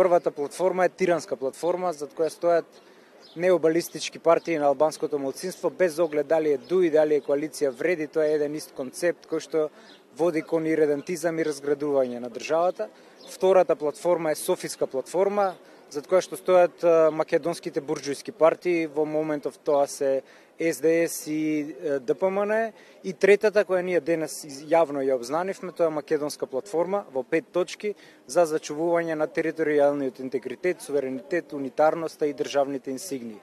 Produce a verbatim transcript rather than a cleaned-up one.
Првата платформа е тиранска платформа, зад која стојат необалистички партии на албанското малцинство, без оглед дали е ДУИ, дали е коалиција вреди, тоа е еден ист концепт кој што води кон иредентизам и разградување на државата. Втората платформа е Софиска платформа, зад која што стојат македонските бурџујски партии, во моментов тоа се С Д С и Д П М Н. И третата, која ние денес јавно ја обзнанивме, тоа е македонска платформа во пет точки за зачувување на територијалниот интегритет, суверенитет, унитарноста и државните инсигнии.